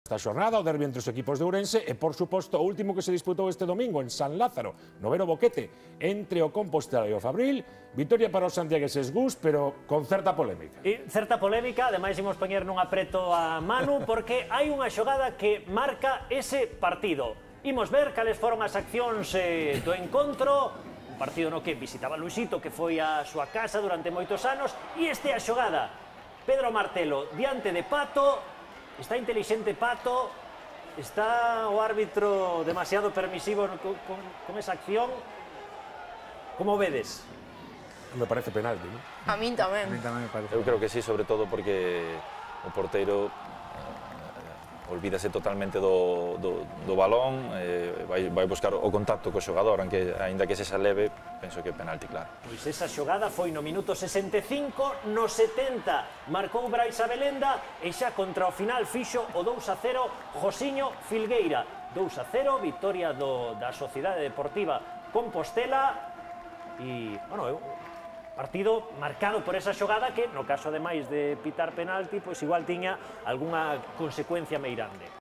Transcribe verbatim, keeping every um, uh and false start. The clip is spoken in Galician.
Esta xornada o derbi entre os equipos de Ourense e, por suposto, o último que se disputou este domingo en San Lázaro, noveno Boquete, entre o Compostela e o Fabril. Victoria para os santiagueses Gus, pero con certa polémica. E certa polémica, ademais imos poñer nun apreto a Manu, porque hai unha xogada que marca ese partido. Imos ver cales foron as accións eh, do encontro, un partido no que visitaba Luisito, que foi a súa casa durante moitos anos, e este é a xogada. Pedro Martelo diante de Pato. Está intelixente Pato, está o árbitro demasiado permisivo con, con, con esa acción. Como vedes? Me parece penalti, ¿no? A min tamén. A min tamén me parece. Eu creo que sí, sobre todo porque o porteiro eh, olvídase totalmente do, do, do balón, eh, vai, vai buscar o contacto co xogador, aunque, ainda que se xa leve, penso que é penalti, claro. Pois esa xogada foi no minuto sesenta e cinco, no setenta marcou Brais Abelenda e xa contra o final fixo o dous a cero Josiño Filgueira. dous a cero, victoria do, da Sociedade Deportiva Compostela e, bueno, eu... partido marcado por esa xogada que, no caso ademais de pitar penalti, pois igual tiña algunha consecuencia meirande.